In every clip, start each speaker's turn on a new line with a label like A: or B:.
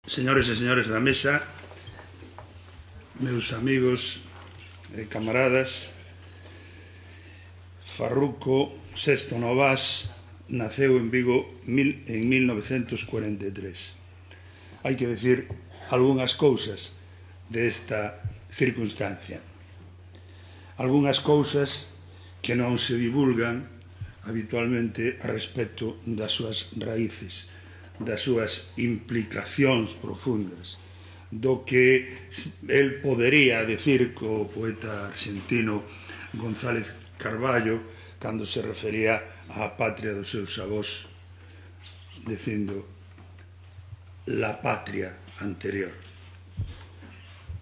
A: Señores e señores da mesa, meus amigos e camaradas, Farruco Sesto Novás naceu en Vigo en 1943. Hai que decir algunhas cousas desta circunstancia. Algunhas cousas que non se divulgan habitualmente a respecto das súas raíces, das súas implicacións profundas, do que el podería decir co poeta argentino González Carballo cando se refería á patria dos seus avós, dicindo la patria anterior.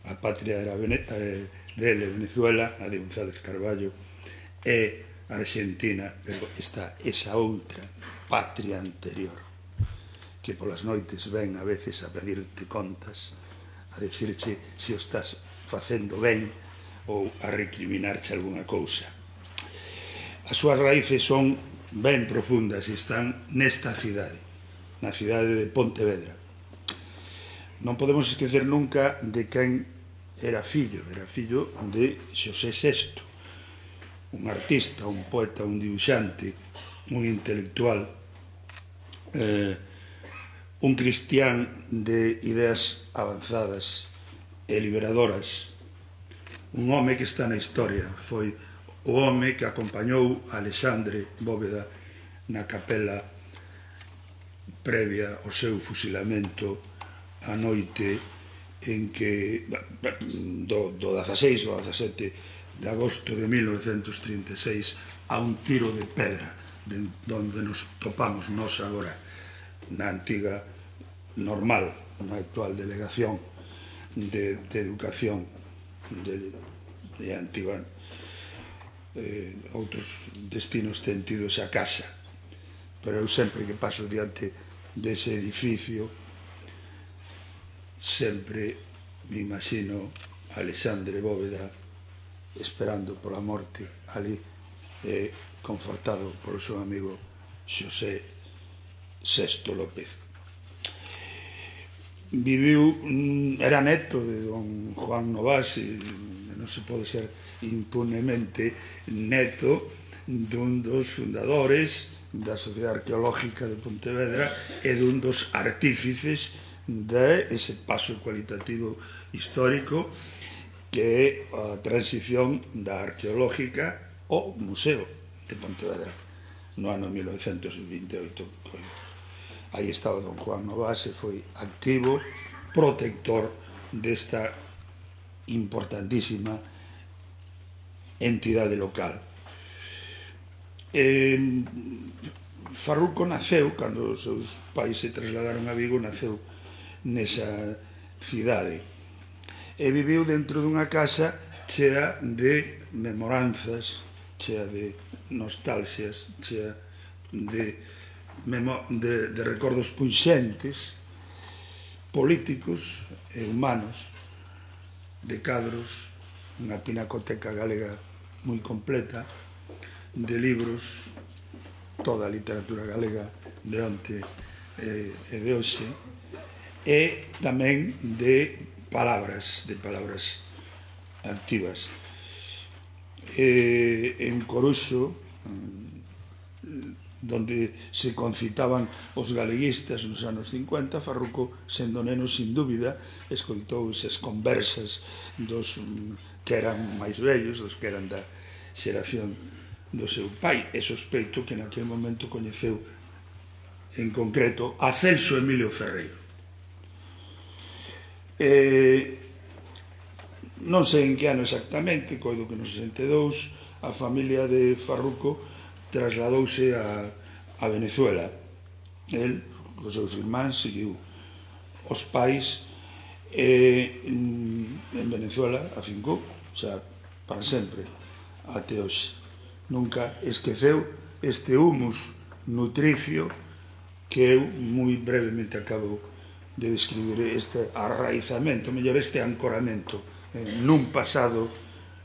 A: A patria era dele, Venezuela, a de González Carballo, e Argentina, pero está esa outra patria anterior que polas noites ven a veces a pedirte contas, a dicirche se o estás facendo ben ou a recriminarche algunha cousa. As súas raíces son ben profundas e están nesta cidade, na cidade de Pontevedra. Non podemos esquecer nunca de quen era fillo de Xosé VI, un artista, un poeta, un dibuixante, un intelectual, un cristián de ideas avanzadas e liberadoras, un home que está na historia. Foi o home que acompañou a Alexandre Bóveda na capela previa ao seu fusilamento a noite en que do 16 ao 17 de agosto de 1936 a un tiro de pedra donde nos topamos nós agora na antiga normal, na actual delegación de educación de antiga, outros destinos ten tido esa casa, pero eu sempre que paso diante dese edificio sempre me imagino a Alexandre Bóveda esperando pola morte ali, confortado polo seu amigo Xosé VI López. Viviu, era neto de don Juan Novás, e non se pode ser impunemente neto dun dos fundadores da Sociedade Arqueológica de Pontevedra e dun dos artífices de ese paso cualitativo histórico que é a transición da arqueológica ao Museo de Pontevedra no ano 1928. Aí estaba don Juan Novás e foi activo, protector desta importantísima entidade local. Farruco naceu, cando os seus pais se trasladaron a Vigo, naceu nesa cidade e viviu dentro dunha casa chea de memoranzas, chea de nostalxias, chea de recordos punxentes, políticos e humanos, de cadros, unha pinacoteca galega moi completa, de libros, toda a literatura galega de onte e de hoxe, e tamén de palabras activas. En Coruxo, donde se concitaban os galeguistas nos anos 50, Farruco, sendo neno, sin dúbida, escoitou esas conversas dos que eran máis vellos, dos que eran da xeración do seu pai, e sospeito que naquele momento coñeceu en concreto a Celso Emilio Ferreiro. Non sei en que ano exactamente, coido que no 62, a familia de Farruco trasladouse a Venezuela. El, cos seus irmáns, seguiu os pais en Venezuela, afincou, xa para sempre, até hoxe. Nunca esqueceu este humus nutricio que eu moi brevemente acabo de describir, este arraizamento, mellor este ancoramento nun pasado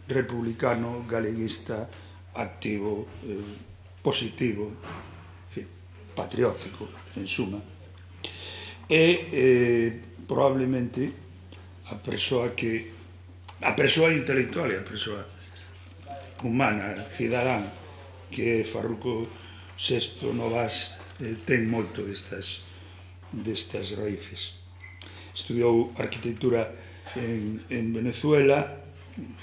A: republicano, galeguista, activo, positivo, patriótico, en suma. E probablemente a persoa intelectual e a persoa humana, cidadán, que é Farruco VI Novas, ten moito destas raíces. Estudiou arquitectura en Venezuela,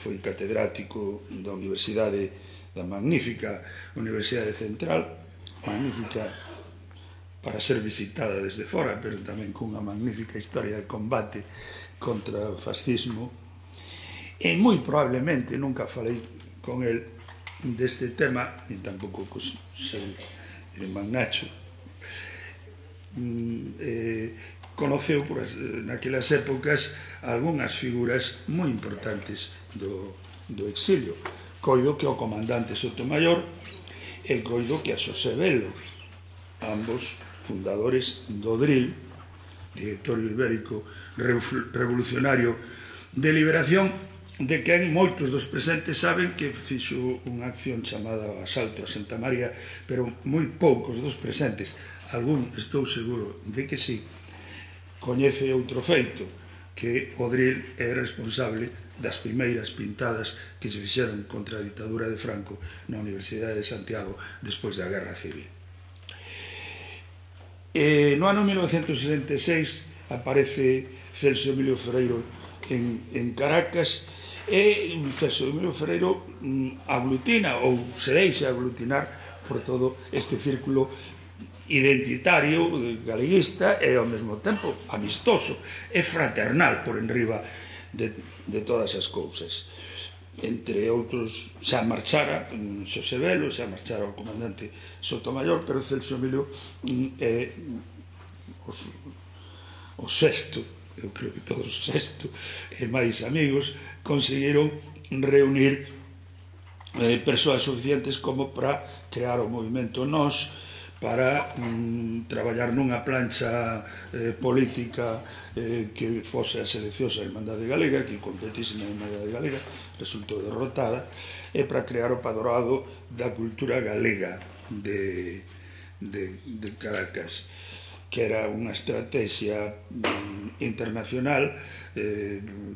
A: foi catedrático da Universidade, da magnífica Universidade Central, magnífica para ser visitada desde fora, pero tamén cunha magnífica historia de combate contra o fascismo. E moi probablemente, nunca falei con el deste tema, ni tampouco cos seu irmán Nacho, conoceu naquelas épocas algunhas figuras moi importantes do exilio. Coido que o comandante Sotomayor e coido que a Xosé Velo, ambos fundadores do DRIL, Directorio Ibérico Revolucionario de Liberación, de quen moitos dos presentes saben que fixo unha acción chamada o asalto a Santa María, pero moi poucos dos presentes, algún estou seguro de que sí, coñece outro feito, que o DRIL é responsable das primeiras pintadas que se fixeron contra a ditadura de Franco na Universidade de Santiago despois da Guerra Civil. No ano 1966 aparece Celso Emilio Ferreiro en Caracas, e Celso Emilio Ferreiro aglutina ou se deixa aglutinar por todo este círculo identitario, galeguista e ao mesmo tempo amistoso e fraternal por enriba de todas as cousas. Entre outros, xa marchara Xosé Velo, xa marchara o comandante Sotomayor, pero Celso Emilio é o sexto, eu creo que todos os sexto e máis amigos conseguiron reunir persoas suficientes como para crear o movimento Nós, para traballar nunha plancha política que fose a seleccionosa Irmandade Galega, que competísima Irmandade Galega resultou derrotada, e para crear o Padroado da Cultura Galega de Caracas, que era unha estrategia internacional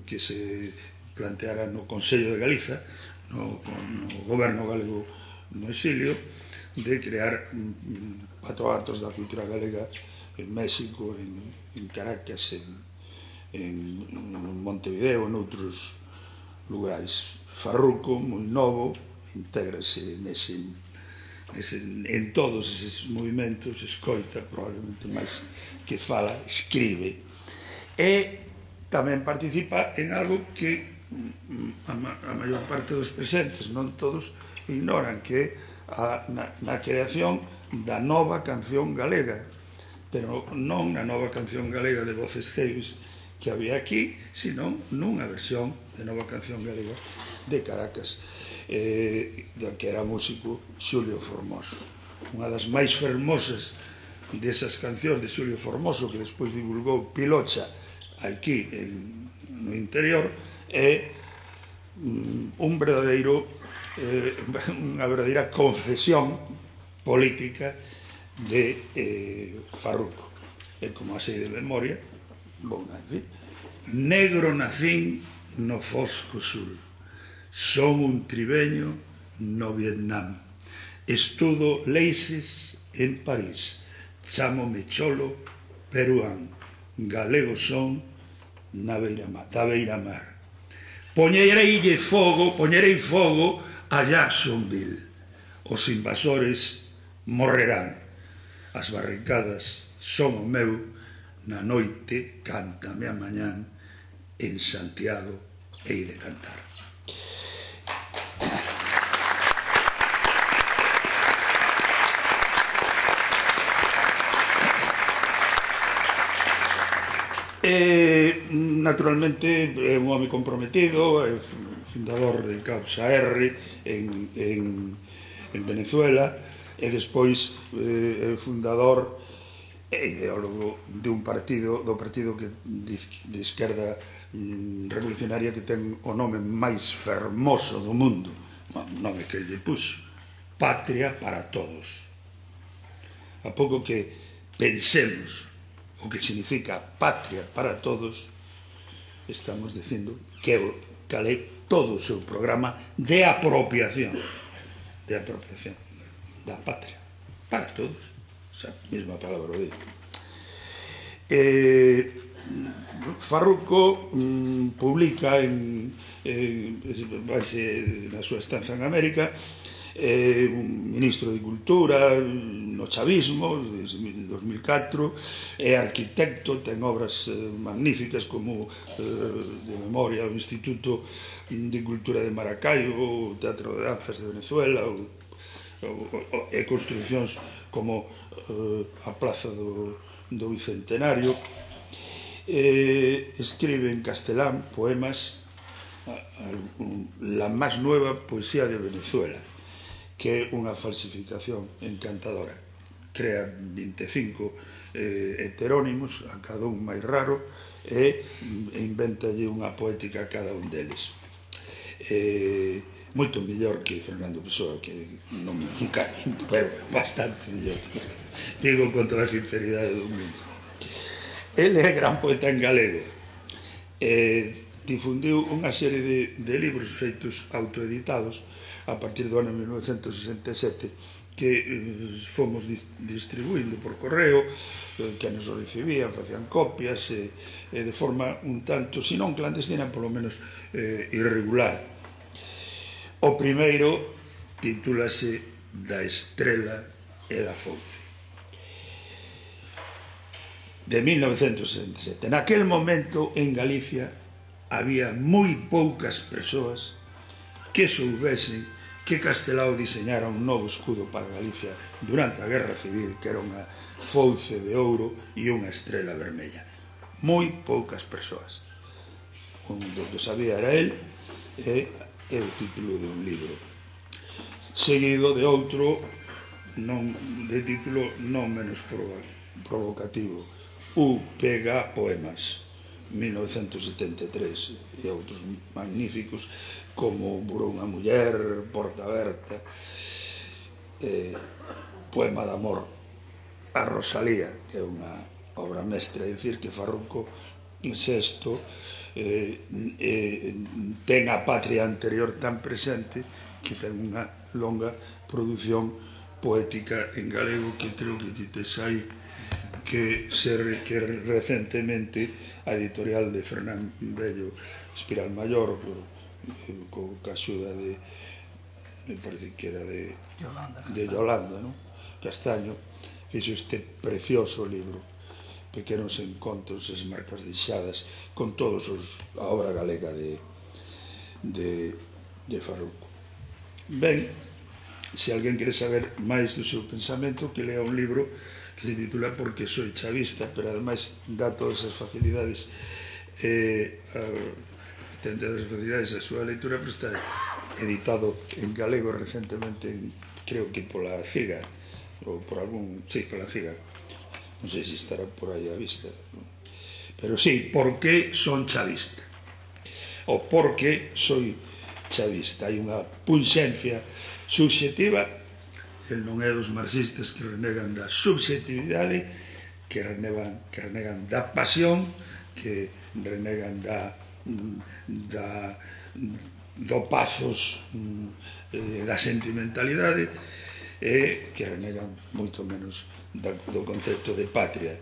A: que se planteara no Consello de Galiza, no goberno galego no exilio, de crear patroatos da cultura galega en México, en Caracas, en Montevideo, en outros lugares. Farruco, moi novo, intégrase en todos eses movimentos, escoita, probablemente máis que fala, escribe, e tamén participa en algo que a maior parte dos presentes, non todos, ignoran, que é na creación da nova canción galega, pero non na nova canción galega de Voces Ceibes que había aquí, sino nunha versión de nova canción galega de Caracas, que era músico Xulio Formoso. Unha das máis fermosas desas cancións de Xulio Formoso, que despois divulgou Pilocha aquí no interior, é unha verdadeira confesión política de Farruco. E como así de memoria, bon, negro nacín no fosco sul, son un tribeño no Vietnam, estudo leixes en París, chámome cholo peruán, galego son da beira mar. Poñerei fogo a Jacksonville, os invasores morrerán, as barricadas son o meu, na noite cántame a mañán, en Santiago hei de cantar. Naturalmente é un home comprometido, é fundador de Causa R en Venezuela, e despois é fundador e ideólogo do partido de esquerda revolucionaria que ten o nome máis fermoso do mundo, o nome que lle puxo, Patria para Todos. A pouco que pensemos o que significa patria para todos, estamos dicindo que cal é todo o seu programa de apropiación da patria para todos, esa mesma palabra de Farruco publica na súa estanza en América, un ministro de Cultura no chavismo de 2004, é arquitecto, ten obras magníficas como de memoria o Instituto de Cultura de Maracaibo, o Teatro de Danzas de Venezuela, e construcións como a Plaza do Bicentenario. Escribe en castelán poemas, la más nueva poesía de Venezuela, que é unha falsificación encantadora. Crea 25 heterónimos, a cada un máis raro, e inventalle unha poética a cada un deles. Moito mellor que Fernando Pessoa, que non nunca, pero bastante mellor. Digo con toda a sinceridade do mundo. Ele é gran poeta en galego. Difundiu unha serie de libros feitos autoeditados a partir do ano 1967 que fomos distribuindo por correo, que nos o recibían, facían copias de forma un tanto, se non clandestina, polo menos irregular. O primeiro titúlase Da estrela e da fouce, de 1967. Naquel momento en Galicia había moi poucas persoas que soubesen que Castelao diseñara un novo escudo para Galicia durante a Guerra Civil, que era unha fouce de ouro e unha estrela vermella. Moi poucas persoas. O que sabía era el, e o título de un libro, seguido de outro de título non menos provocativo, UPG Poemas, 1973, e outros magníficos como Burou unha muller, Porta Aberta, Poema de amor a Rosalía, que é unha obra mestra, é dicir que Farruco sexto ten a patria anterior tan presente que ten unha longa produción poética en galego que creo que te sai que recentemente a editorial de Fernán Bello Espiral Mayor, co axuda de, me parece que era de Yolanda, Castaño, fixo este precioso libro, Pequenos encontros, as marcas deixadas, con todos a obra galega de Farruco. Ben, se alguén quere saber máis do seu pensamento, que lea un libro que se titula Porque soy chavista, pero ademais dá todas as facilidades a súa leitura, pero está editado en galego recentemente, creo que pola CIGA, ou por algún, sí, pola CIGA, non sei se estará por aí a vista, pero sí, por que son chavista, ou por que soy chavista. Hai unha punxencia subxetiva, el non é dos marxistas que renegan da subxetividade, que renegan da pasión, que renegan do pazos, da sentimentalidade, e que renegan moito menos do concepto de patria.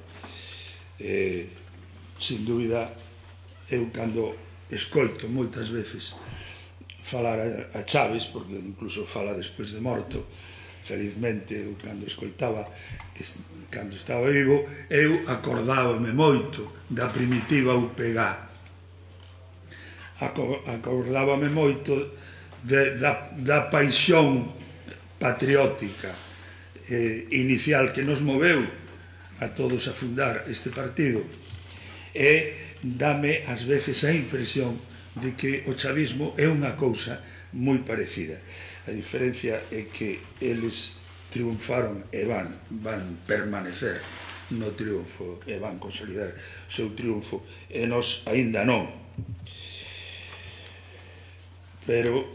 A: Sin dúbida, eu cando escoito moitas veces falar a Chaves, porque incluso fala despois de morto, felizmente, eu cando escoitaba, cando estaba vivo, eu acordábame moito da primitiva UPG, acordábame moito da paixón patriótica inicial que nos moveu a todos a fundar este partido, e dame ás veces a impresión de que o chavismo é unha cousa moi parecida. A diferencia é que eles triunfaron e van permanecer no triunfo e van consolidar o seu triunfo, e nós aínda non. Pero,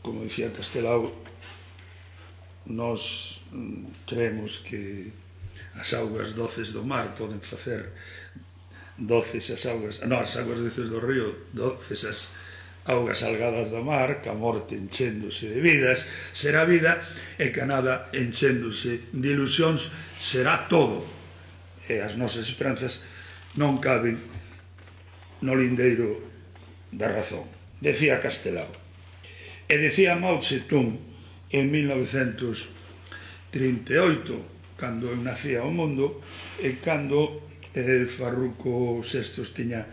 A: como dicía Castelao, nós creemos que as augas doces do mar poden facer doces as augas, non, as augas doces do río, doces as augas salgadas do mar, que a morte enchéndose de vidas será vida, e que a nada enchéndose de ilusións será todo, e as nosas esperanzas non caben no lindeiro da razón. Decía Castelao. E decía Mao Tse-tung en 1938, cando eu nacía ao mundo, e cando Farruco VI tiña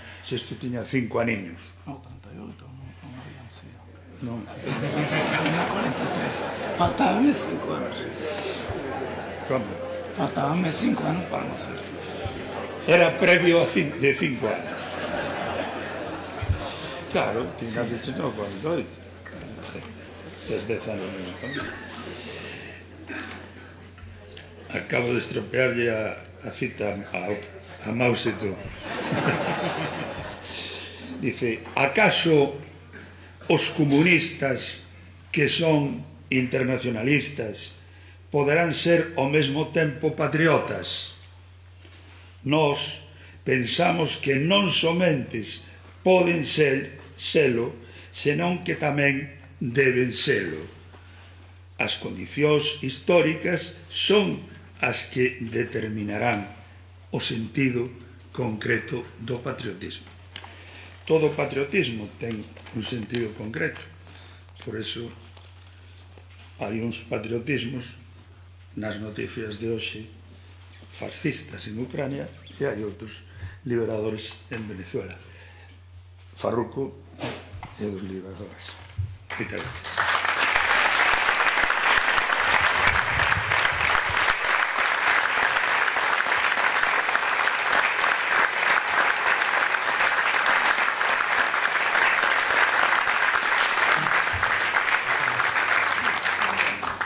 A: 5 aniños.
B: No, 38, non habían sido.
A: Non.
B: Tenía 43. Faltábanme 5 anos.
A: Como?
B: Faltábanme 5 anos para nacer.
A: Era previo de 5 anos. Claro, tiña dicho no 48. Es 10 anos menos. Acabo de estropearlle a cita a Mao Tse-tung. Dice, acaso os comunistas que son internacionalistas poderán ser ao mesmo tempo patriotas? Nós pensamos que non somente poden selo, senón que tamén deben selo. As condicións históricas son as que determinarán o sentido concreto do patriotismo. Todo patriotismo ten un sentido concreto. Por eso hai uns patriotismos nas noticias de hoxe fascistas en Ucrania e hai outros liberadores en Venezuela. Farruco é dos liberadores. Moitas gracias.